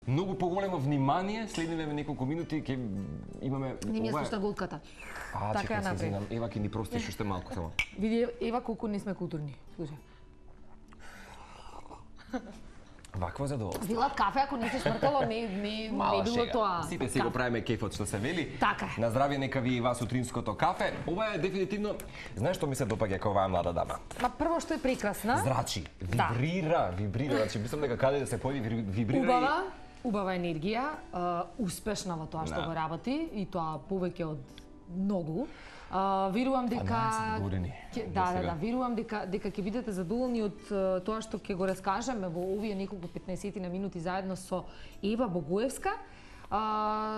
многу поголемо внимание, следниве неколку минути ќе имаме Не ми ја слушна голката. Така ја направи. Ева ќе ни простиш уште малку само. Види, Ева, колку не сме културни. Слушај. Вакво задоволство. Вилат кафе, ако не се шмркало, не било тоа. Сите си го правиме кефот што се вели. Така е. На здравје нека ви и вас утринското кафе. Ова е дефинитивно, знаеш што ми се допаѓа кога оваа млада дама? Ма прво што е прекрасна. Зрачи, вибрира, значи мислам дека каде да се појави вибрира. Убава енергија, успешна во тоа што го работи и тоа повеќе од многу. Верувам дека верувам дека ќе бидете задоволни од тоа што ќе го раскажеме во овие неколку 15 на минути заедно со Ева Богоевска.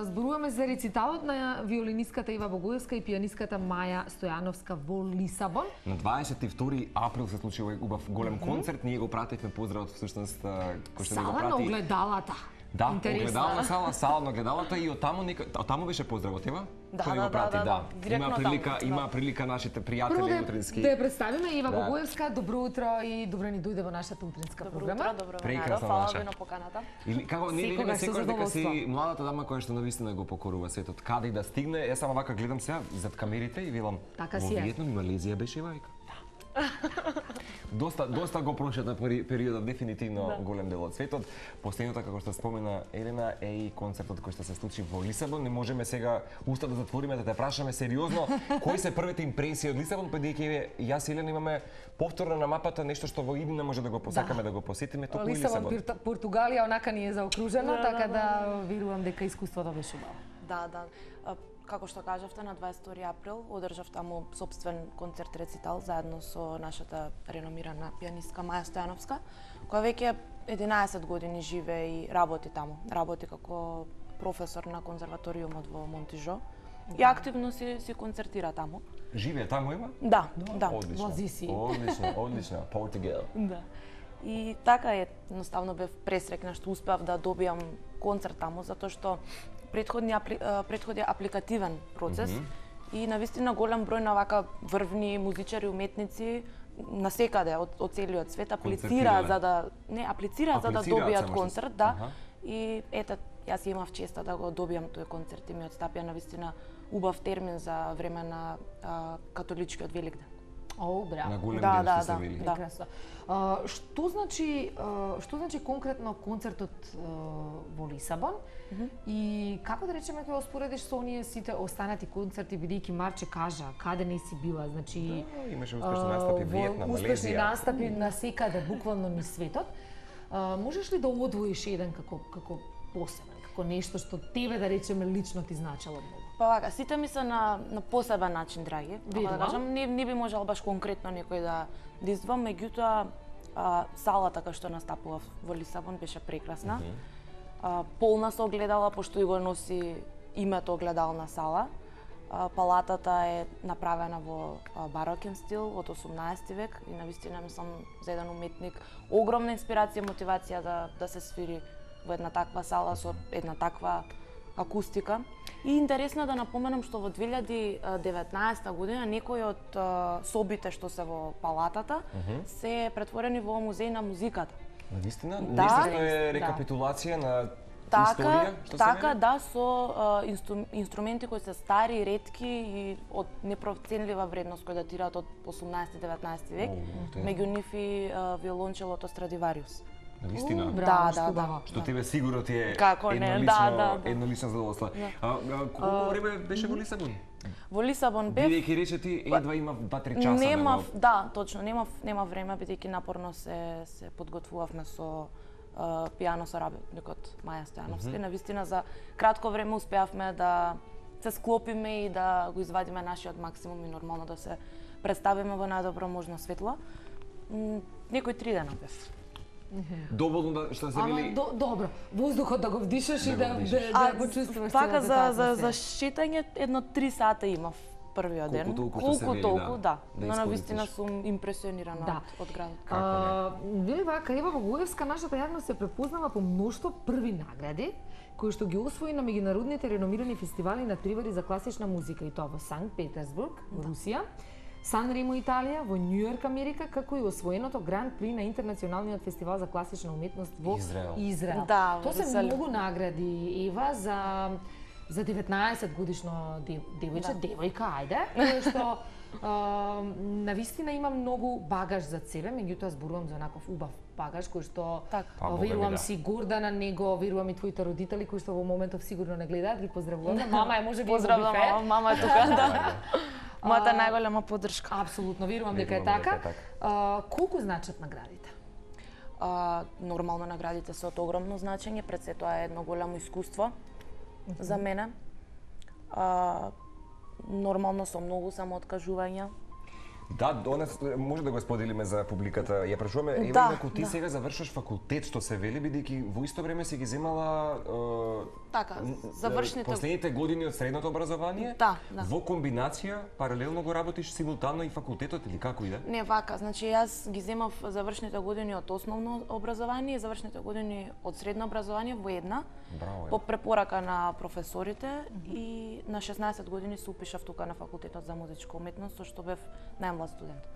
Зборуваме за рециталот на виолинистката Ева Богоевска и пианистката Маја Стојановска во Лисабон. На 22 април се случи овој убав голем концерт. Ние го пративме поздравот всушност кој што ни го прати. Сала на огледалата. Да, огледална сала на огледалата и од таму беше поздравот, Ева? Да. Има прилика нашите пријатели утрински. Да ја представиме Ева Богоевска. Добро утро и добро ни дојде во нашата утринска програма. Добро утро, фала ви на поканата. Или како не видиме секогаш дека си младата дама која што навистина го покорува светот. Каде и да стигне, јас само вака гледам сега зад камерите и велам во Виетнам и Малезија беше Ева. Доста го прошета периодот, дефинитивно голем дел од светот. Последното, како што спомена Елена, е и концертот кој што се случи во Лисабон. Не можеме сега уста да затвориме да те прашаме сериозно кои се првите импресии од Лисабон, бидејќи јас и Елена имаме повторно на мапата нешто што во иднина може да го посакаме да го посетиме, туку и Лисабон. Лисабон, Португалија онака ни е заокружена, така да верувам дека искуството беше убаво. Да. Како што кажавте, на 22 април одржав таму сопствен концерт рецитал заедно со нашата реномирана пианистка Маја Стојановска, која веќе 11 години живее и работи таму. Работи како професор на конзерваториумот во Монтижо и активно си концертира таму. Живее таму има? Да. Одлично. Португал. Да. И така едноставно бев пресрекна што успеав да добијам концерт таму, затоа што предходи апликативен процес и навистина голем број на вака врвни музичари, уметници насекаде од целиот свет аплицираат за да добијат концерт, И ете, јас имав честа да го добијам тој концерт и ми отстапија навистина убав термин за време на католичкиот Великден. Браво. На голем дел што се вели. Прекрасно. Што значи конкретно концертот во Лисабон и како да речеме ќе го споредиш со оние сите останати концерти, бидејќи Марче кажа каде не си била, значи имаше успешни настапи во Виетнам, Малезија. Успешни настапи насекаде буквално низ светот. Можеш ли да одвоиш еден како посебен, како нешто што тебе да речеме лично ти значело многу? Па вака, сите ми се на посебен начин драги. Да кажам, не би можел баш конкретно некој да издвам, меѓутоа салата кај што настапував во Лисабон беше прекрасна. Полна со огледала, пошто и го носи името огледална сала. Палатата е направена во барокен стил од 18 век и навистина мислам за еден уметник огромна инспирација, мотивација да се свири во една таква сала со една таква акустика. И интересно да напоменам што во 2019 година некои од собите што се во палатата се претворени во музеј на музиката. Навистина? Нешто е рекапитулација на историја? Така, да, со инструменти кои се стари, ретки и од непроценлива вредност кои датираат од 18-19 век, меѓу нив и виолончелото Страдивариус. Навистина? Да. Што тебе сигурно ти е еднолично задоволство. Колку време беше во Лисабон? Во Лисабон бев... Бидејќи рече ти едва имав 2-3 часа. Да, точно, немав време, бидејќи напорно се подготвувавме со пијано соработникот Маја Стојановска. Навистина за кратко време успеавме да се склопиме и да го извадиме нашиот максимум и нормално да се представиме во најдобро можно светло. Некои 3 дена бев. Доволно да што се вели. Добро, воздухот да го вдишаш и да го чувствуваш. Така за шетање едно 3 сата имав првиот ден. Колку толку, да. Но навистина сум импресионирана од градот. Вели вака, Ева Богоевска, нашата јавност се препознава по мноштво први награди кои што ги освои на меѓународните реномирани фестивали и надпревари за класична музика, и тоа во Санкт Петерсбург, во Русија. Сан-Ремо, Италија, во Њујорк, Америка, како и освоеното Гранд При на Интернационалниот фестивал за класична уметност во Израел. Да, тоа се многу награди, Ева, за 19 годишно девојче, девојка, ајде, кој што навистина има многу багаж за себе, меѓутоа зборувам за онаков убав багаж кој што верувам си горда на него, верувам и твоите родители кои што во моментов сигурно не гледаат, ги поздравуваме. Мама е можеби поздравувам, мама е тука, да. Мојата најголема поддршка. Апсолутно, верувам дека е така. Колку значат наградите? Нормално наградите се од огромно значење, пред се тоа е едно големо искуство за мене. Нормално со многу самооткажувања. Да, донес може да го споделиме за публиката. Ја прашуваме, Ева, ако ти сега завршиш факултет, што се вели, бидејќи во исто време си ги земала последните години од средното образование, во комбинација, паралелно го работиш симултано и факултетот или како иде? Не, вака, значи јас ги земав завршните години од основно образование и завршните години од средно образование во една. Браво, по препорака на професорите и на 16 години се упишав тука на факултетот за музичка уметност, со што бев најмлад студент.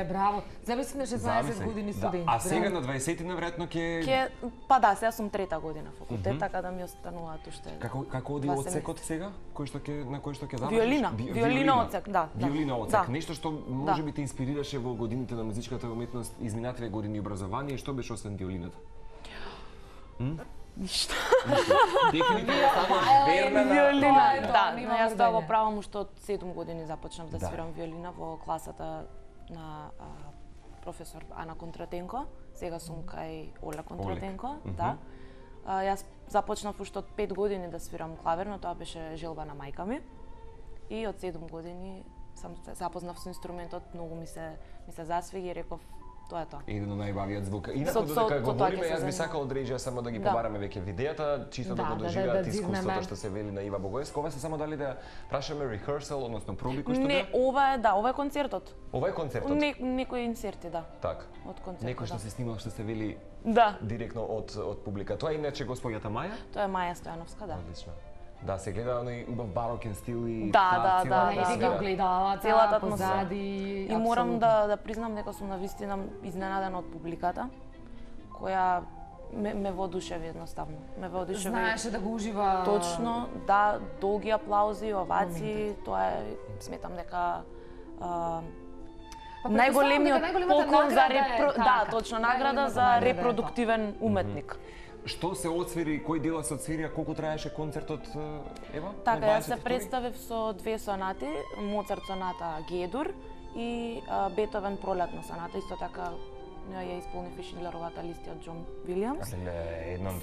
Браво. Замисли на 16 години студент. А сега на 20-тина веројатно ќе па да, сега сум трета година факултет, така да ми остануваат уште. Како оди одсекот сега? На кој што ќе завршиш? Виолина. Виолина одсек, да. Виолина одсек. Нешто што можеби те инспирираше во годините на музичката уметност, изминативе години образование, што беше освен виолината? Ништо. Дефинитивно стануваш верна на виолина. Да, јас тоа го правам уште од 7 години започнав да свирам виолина во класата на професор Ана Контратенко. Сега сум кај Оля Контратенко, да. Јас започнав уште од 5 години да свирам клавир, но тоа беше желба на мајка ми. И од 7 години сам се запознав со инструментот, многу ми се засвиги и реков тоа е тоа. Еден од најбавиот звук. Инаку додека говориме, јас би сакал од Реџија само да ги побараме веќе видеата, чисто да го доживеат искуството што се вели на Ива Богоевска. Ова се само дали да прашаме rehearsal, односно проби кои што Не, ова е концертот. Ова е концертот. Некои инсерти, да. Така. Од концертот. Некој што се снимал, што се вели директно од публика. Тоа е иначе госпоѓата Маја? Тоа е Маја Стојановска, да. Одлично. Да, се гледа оној убав барокен стил и да, ги огледала целата атмосфера. И морам да признам дека сум навистина изненадена од публиката, која ме воодушеви едноставно. Ме воодушеви. Знаеше да го ужива. Точно, да, долги аплаузи, овации, тоа е, сметам дека најголемиот поклон за точно награда за репродуктивен уметник. Што се отсвири, кој дела се отсвирија, колку траеше концертот, Ева? Така, јас се представив со 2 сонати, Моцарт соната Г-дур и Бетовен пролетна соната, исто така ја исполнив и Шиндлеровата листа од Џон Вилијамс.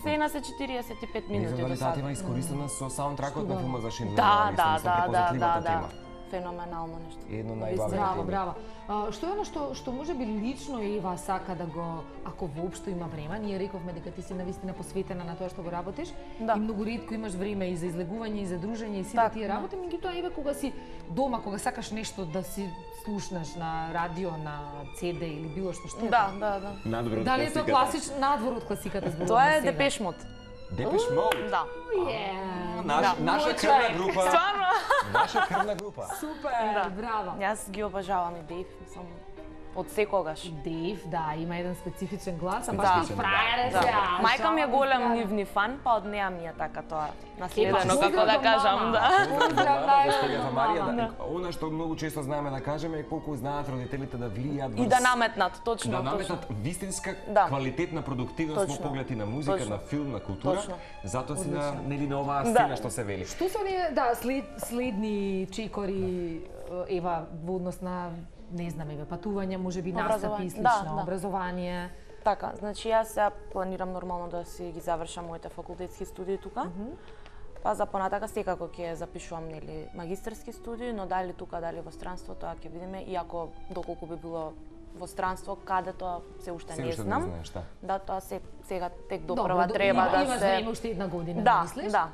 Сцена се 45 минути до сад. Не знам дали искористена со саундтракот на филма за Шиндлер. Да. Феноменално нешто. Едно најбавно. Браво. Што е оно што можеби лично Ева сака да го, ако воопшто има време, ние рековме дека ти си навистина посветена на тоа што го работиш, и многу ретко имаш време и за излегување и за дружење и сите тие работи, меѓутоа Ева кога си дома, кога сакаш нешто да си слушнеш на радио, на CD или било што. Да. Дали е тоа класично надвор од класиката зборуваме? Тоа е Депеш Мод. Депеш Мод? Да. Наша крвна група. Стварно? Наша крвна група. Супер, браво. Јас ги обожавам и Дейв, сум од секогаш. Дейв, да, има еден специфичен глас, а баш фрајер е се. Мајка ми е голем нивни фан, па од неа ми е така тоа наследено, како да кажам, Госпоѓата Марија, она што многу често знаеме да кажеме е колку знаат родителите да влијат и да наметнат, точно. Да наметнат вистинска квалитетна продуктивност во поглед на музика, на филм, на култура. Затоа си на оваа сцена што се вели. Што се оние следни чекори, Ева, во однос на не знам, патување, можеби настапи и слично, образование. Така, значи јас сега планирам нормално да си ги завршам моите факултетски студии тука. Па за понатака секако ќе запишувам нели магистерски студии, но дали тука, дали во странство, тоа ќе видиме, иако доколку би било во странство, каде тоа се уште не знам. Да, тоа сега тек допрва треба да се. Имаш време уште една година, мислиш? Да.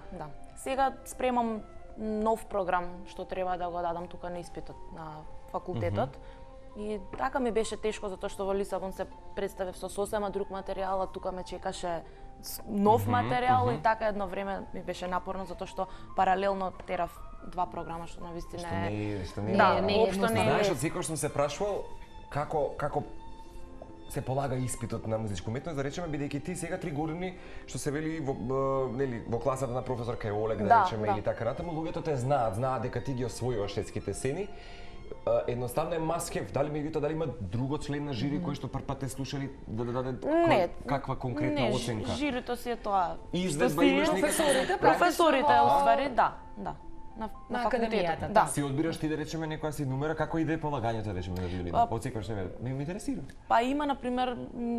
Сега спремам нов програм што треба да го дадам тука на испитот на факултетот. И така ми беше тешко затоа што во Лисабон се представив со сосема друг материјал, а тука ме чекаше нов материјал и така едно време ми беше напорно затоа што паралелно терав два програма што навистина Што не е. Да, општо не е. Знаеш, од секој што се прашувал како се полага испитот на музичка уметност, да речеме, бидејќи ти сега 3 години што се вели во класата на професор кај Олег, да речеме, или така натаму, луѓето те знаат дека ти ги освојуваш светските сцени. Едноставно е маскев, дали има друго член на жири кој што прв пат те слушали да даде каква конкретна оценка? Не, жирито си е тоа. Изведба имаш професорите, уствари, да. На академијата. Да. Си одбираш ти да речеме некоја си numera, како иде полагањето да речеме на виолина? Одсекогаш ме интересира. Па има на пример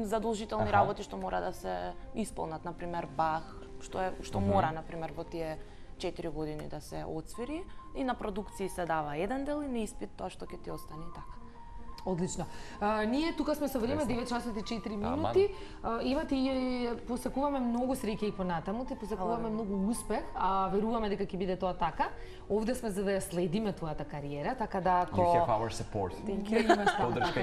задолжителни работи што мора да се исполнат, на пример Бах, што мора на пример во тие 4 години да се отсвири, и на продукции се дава еден дел и на испит тоа што ќе ти остане така. Одлично. Ние тука сме со време 9 часот и 4 минути. Има ти посакуваме многу среќа и понатаму, ти посакуваме многу успех, веруваме дека ќе биде тоа така. Овде сме за да ја следиме твојата кариера, така да ако You have our support.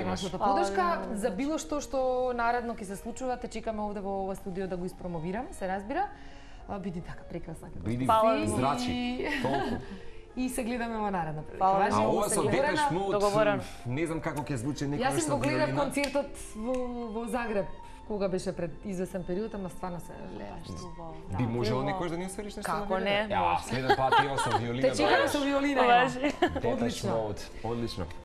Нашата подршка за било што наредно ќе се случува, те чекаме овде во ова студио да го испромовираме, се разбира. Биди така прекрасна како Биди зрачи, толку. И се гледаме во наредна прилика. А ова со Депеш Мод, не знам како ќе звучи некој што го гледав концертот во Загреб, кога беше пред извесен период, ама стварно се леаш. Би можело некој да ни освириш нешто? Како не? Следен пат со виолина. Те чекаме со виолина. Депеш Мод, одлично.